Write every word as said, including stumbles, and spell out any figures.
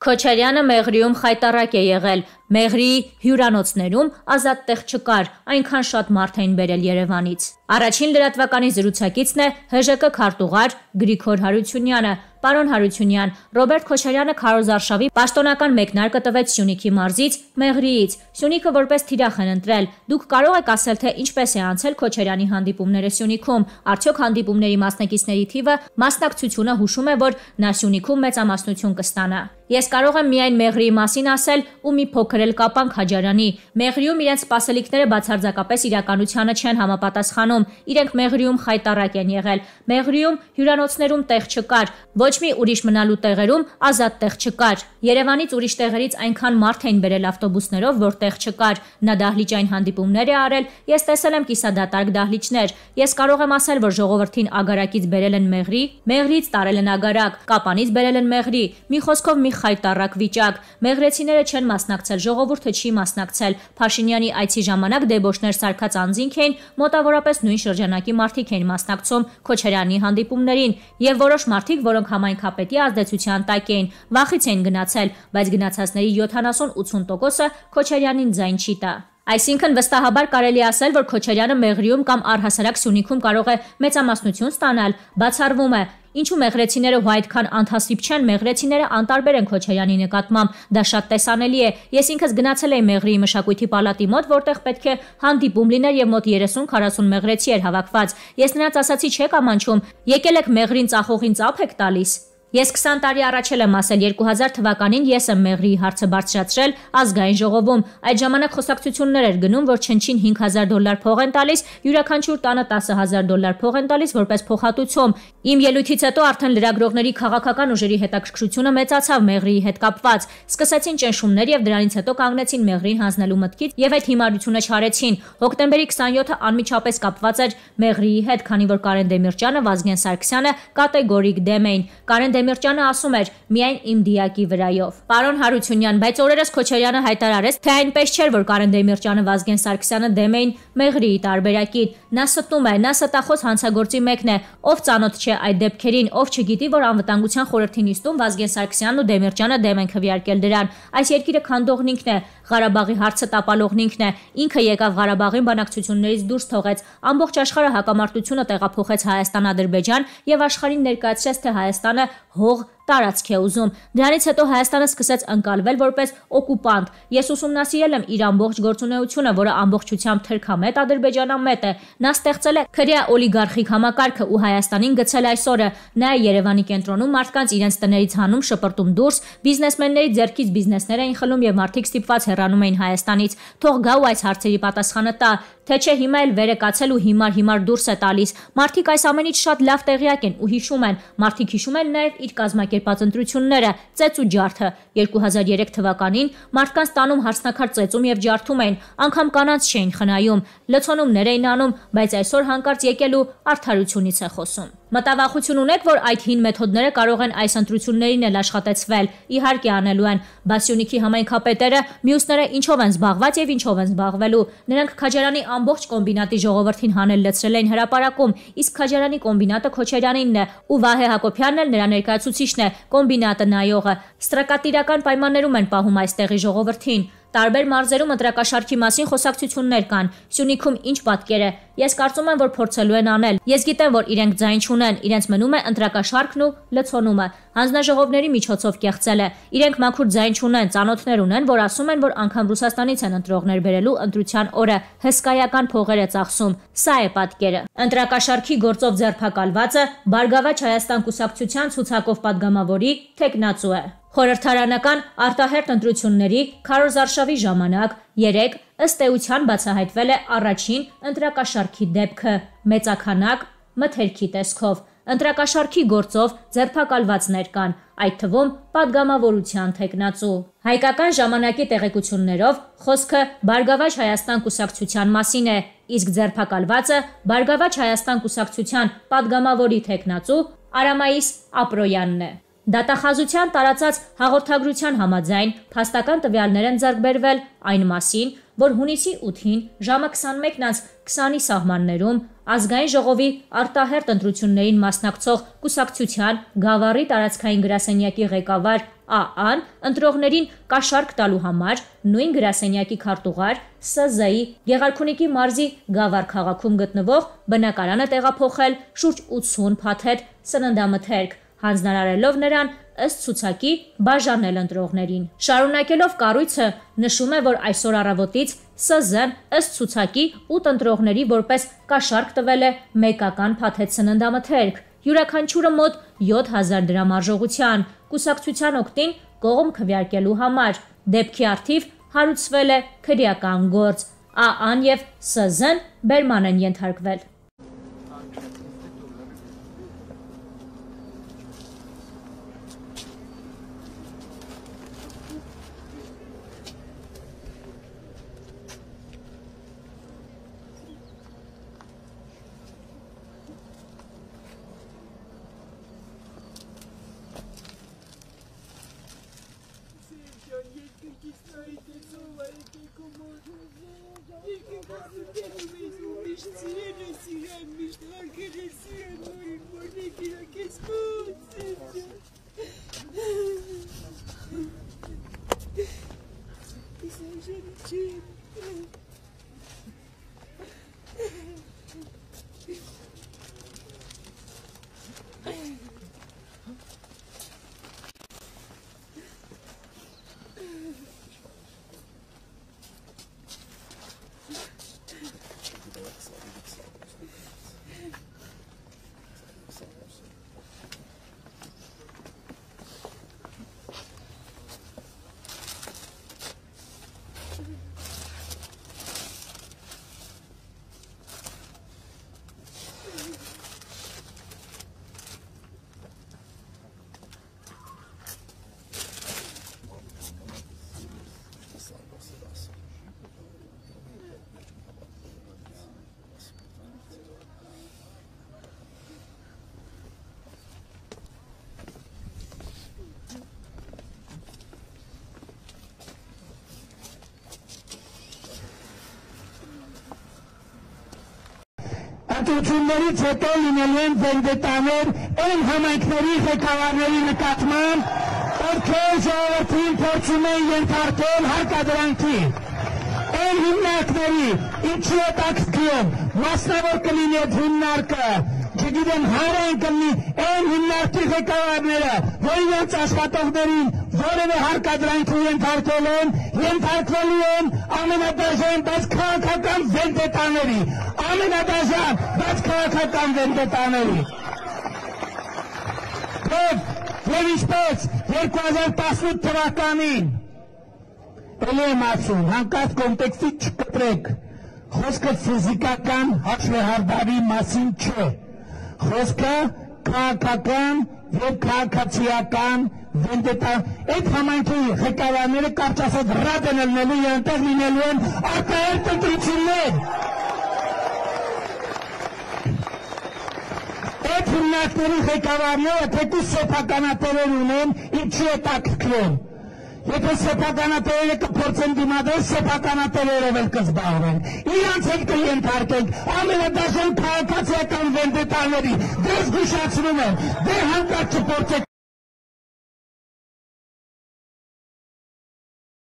Քոչարյանը Մեղրիում խայտառակ է եղել, Մեղրիի հյուրանոցներում ազատ տեղ չկար, այնքան շատ մարդ էին բերել Երևանից։ Առաջին լրատվականի զրուցակիցն է Հ Ժ Կ քարտուղար Գրիգոր Հարությունյանը։ Պարոն Հարությունյան, Ռոբերտ Քոչարյանը քարոզարշավի պաշտոնական մեկնարկը տվեց Սյունիքի մարզից, Մեղրիից։ Սյունիքը որպես թիրախ են ընտրել։ Դուք կարող եք ասել, թե ինչպես է անցել Քոչարյանի հանդիպումները Սյունիքում։ Արդյոք հանդիպումների մասնակիցների թիվը մասնակցությունը հուշում է, որ նա Սյունիքում մեծամասնություն կստանա։ Ես կարող եմ միայն Մեղրիի մասին ասել ու մի փոքր էլ կապանք Քաջարյանի։ Մեղրիում իրենց սպասելիքները բացարձակապես իրականությանը չեն համապատասխանում։ Իրենք Մեղրիում խայտառակ են եղել։ Մեղրիում հյուրանոցներում տեղ չկար, ոչ մի ուրիշ մնալու տեղերում ազատ տեղ չկար։ Երևանից ուրիշ տեղերից այնքան մարդ էին բերել ավտոբուսներով, որ տեղ չկար։ Նա դահլիճային հանդիպումներ է արել, ես տեսել եմ կիսադատարկ դահլիճներ։ Ես կարող եմ ասել, որ ժողովրդին ագարակից բերել են Մեղրի, Մեղրիից տարել են ագարակ, Կապանից բերել են Մեղրի։ Մի խոսքով մի խայտառակ վիճակ։ Մեղրեցիները չեն մասնակցել, ժողովուրդը չի մասնակցել։ Փաշինյանի այցի ժամանակ դեբոշներ սարքած անձինք էին, մոտավորապես նույն շրջանակի մարդիկ էին մասնակցում Քոչարյանի հանդիպումներին, եւ որոշ մարդիկ, որոնք համայնքապետի ազդեցության տակ էին, վախից էին գնացել, բայց գնացածների յոթանասուն-ութուն տոկոսը Քոչարյանին ձայն չի տա։ Այսինքն վստահաբար կարելի ասել, որ Քոչարյանը Մեղրիում կամ առհասարակ Սյունիքում կարող է մեծամասնություն ստանալ։ Բացառվում է, ինչու մեղրեցիները ու այդքան անթասիբ չեն, մեղրեցիները անտարբեր են Քոչարյանի նկատմամբ, դա շատ տեսանելի է։ Ես ինքս գնացել էի Մեղրիի մշակույթի պալատի մոտ, որտեղ պետք է հանդիպում լիներ եւ մոտ երեսուն-քառասուն մեղրեցի էր հավաքված։ Ես նրանց ասացի՝ չեք ամանչում, եկել եք Մեղրին ծախողին ծափ եք տալիս։ Ես քսան տարի առաջ եմ ասել, երկու հազար թվականին ես եմ Մեղրիի հարցը բարձրացրել ազգային ժողովում։ Այդ ժամանակ խոսակցություններ էր գնում, որ չնչին հինգ հազար դոլար փող են տալիս, յուրաքանչյուր տանը տասը հազար դոլար փող են տալիս որպես փոխհատուցում։ Իմ ելույթից հետո արդեն լրագրողների քաղաքական ուժերի հետաքրքրությունը մեծացավ Մեղրիի հետ կապված։ Սկսեցին ճնշումներ եւ դրանից հետո կանգնեցին Մեղրին հանձնելու մտքից եւ այդ հիմարությունը չարեցին։ Հոկտեմբերի քսանյոթը անմիջապես կապված էր Մեղրիի հետ, քանի որ Կարեն Դեմիրճյանը, Վազգեն Սարգսյանը կատեգորիկ դեմ էին։ Կարեն Դեմիրճյանը ասում էր՝ միայն իմ դիակի վրայով։ Պարոն Հարությունյան, բայց օրերս Քոչարյանը հայտարարեց, թե այնպես չէր, որ Կարեն Դեմիրճյանը, Վազգեն Սարգսյանը դեմ էին Մեղրիի տարբերակին։ Նա ստում է, նա ստախոս հանցագործի մեկն է, ով ծանոթ չէ այդ դեպքերին, ով չգիտի, որ անվտանգության խորհրդի նիստում Վազգեն Սարգսյանն ու Դեմիրճյանը դեմ են քվեարկել դրան։ Այս երկիրը քանդողն ինքն է, Ղարաբաղի հարցը տապալողն ինքն է, ինքը եկավ Ղարաբաղին բանակցություններից դուրս թողեց, ամբողջ աշխարհը հակամարտությունը տեղափոխեց Հայաստան-Ադրբեջան եւ աշխարհին ներկայացրեց, թե Հայաստանը հող տարածք է ուզում։ Դրանից հետո Հայաստանը սկսեց ընկալվել որպես օկուպանտ։ Ես ուսումնասիրել եմ իր ամբողջ գործունեությունը, որը ամբողջությամբ թրքամետ ադրբեջանամետ է։ Նա ստեղծել է քրեա օլիգարխիկ համակարգը ու Հայաստանին գցել այս օրը։ Նա է Երևանի կենտրոնում մարդկանց իրենց տներից հանում, շպրտում դուրս, բիզնեսմենների ձեռքից բիզնեսներ էին խլում եւ մարդիկ ստիպված հեռանում էին Հայաստանից։ Թող գա ու այս հարցերի պատասխանը տա, թե չէ հիմա էլ վերը կացել ու հիմար-հիմար դուրս է տալիս։ Մարդիկ այս ամենից շատ լավ տեղյակ են ու հիշում են։ Մարդիկ հիշում են նաեւ իր կազմակերպած ընտրությունները, ծեծ ու ջարդը։ երկու հազար երեք թվականին մարդկանց տանում հարսնաքար ծեծում եւ ջարդում էին, անգամ կանանց չէին խնայում, լցոնումներ էին անում, բայց այսօր հանկարծ եկել ու արդարությունից է խոսում։ Մտավախություն ունեք, որ այդ հին մեթոդները կարող են այս ընտրություններին էլ աշխատեցվել։ Իհարկե անելու են, բայց Սյունիքի համայնքապետերը մյուսները ինչով են զբաղված եւ ինչով են զբաղվելու։ Նրանք Քաջարյանի ամբողջ կոմբինատի ժողովրդին հանել լցրել էին հրապարակում, իսկ Քաջարյանի կոմբինատը Քոչարյանինն է ու Վահե Հակոբյանն էլ նրա ներկայացուցիչն է, կոմբինատը նայողը։ Ստրակատիրական պայմաններում են պահում այստեղի ժողովրդին։ Տարբեր մարզերում ընտրակաշարքի մասին խոսակցություններ կան։ Սյունիքում ինչ պատկեր է։ Ես կարծում եմ, որ փորձելու են անել։ Ես գիտեմ, որ իրենք ձայն չունեն, իրենց մնում է ընտրակաշարքն ու լցոնումը։ Հանձնաժողովների միջոցով կեղծել է։ Իրենք մաքուր ձայն չունեն, ծանոթներ ունեն, որ ասում են, որ անգամ Ռուսաստանից են ընտրողներ բերելու ընտրության օրը, հսկայական փողեր է ծախսում։ Սա է պատկերը։ Ընտրակաշարքի գործով ձերբակալվածը Բարգավաճ Հայաստան կուսակցության ցուցակով падգամավորի թեկնածու է։ Խորհրդարանական արտահերթ ընտրությունների քարոզարշավի ժամանակ երեկ ըստ էության բացահայտվել է առաջին ընտրակաշարքի դեպքը մեծաքանակ մթերքի տեսքով։ Ընտրակաշարքի գործով ձերբակալվածներ կան, այդ թվում падգամավորության թեկնածու։ Հայկական ժամանակի տեղեկություններով խոսքը Բարգավաճ Հայաստան կուսակցության մասին է, իսկ ձերբակալվածը Բարգավաճ Հայաստան կուսակցության падգամավորի թեկնածու Արամայիս Ապրոյանն է։ Դատախազության տարածած հաղորդագրության համաձայն փաստական տվյալներ են ձեռք բերվել այն մասին, որ հունիսի ութին ժամը քսանմեկն քսանի սահմաններում ազգային ժողովի արտահերթ ընտրություններին մասնակցող կուսակցության Գավառի տարածքային գրասենյակի ղեկավար Ա-ան ընտրողներին կաշառք տալու համար նույն գրասենյակի քարտուղար Ս Զ-ի Գեղարքունիքի մարզի Գավառ քաղաքում գտնվող բնակարանը տեղափոխել շուրջ ութսուն փաթեթ սննդամթերք, հանձնարարելով նրան ըստ ցուցակի բաժանել ընտրողներին։ Շարունակելով կառույցը նշում է, որ այսօր առավոտից Ս Զ-ն ըստ ցուցակի ութ ընտրողների որպես կաշառք տվել է մեկական փաթեթ սննդամթերք, յուրաքանչյուրը մոտ յոթ հազար դրամ արժողության, կուսակցության օգտին կողմ քվեարկելու համար։ Դեպքի առթիվ հարուցվել է քրեական գործ։ Ա-ան եւ Ս Զ-ն բերման են ենթարկվել։ Ընտրություններից հետո լինելու են վենդետաներ այն համայնքների ղեկավարների նկատմամբ, ովքեր ժողովրդին փորձում են ենթարկել հարկադրանքի։ Այն հիմնարկների, ինչի է տաքսկիում, մասնավոր կլինի այդ հիմնարկը, չգիտեմ հար են կլինի այն հիմնարկի ղեկավարները, որ իրենց աշխատողներին որևէ հարկադրանքի ենթարկել են, ենթարկվելու են ամենադաժան, բայց քաղաքական վենդետաների, ամենադաժան, բայց քաղաքական վենդետաների։ Եվ ինչպես երկու հազար տասնութ թվականին էլի եմ ասում, հանկարծ կոնտեքստից չկտրեք, խոսքը ֆիզիկական հաշվեհարդարի մասին չէ, խոսքը քաղաքական եւ քաղաքացիական վենդետա, այդ համայնքի ղեկավարները կարճ ասած ռադ են ելնելու եւ այնտեղ լինելու են արտահերթ ընտրություններ։ Այդ հիմնարկների ղեկավարները թեկուզ սեփականատերեր ունեն, ինչի է տաքսկրում։ Եթե սեփականատերերը կփորձեն դիմադրել, սեփականատերերով էլ կզբաղվեն։ Իրանց էլ կենթարկենք ամենադաժան քաղաքացիական վենդետաների, դες զգուշացնում եմ, դե հանկարծ չփորձեք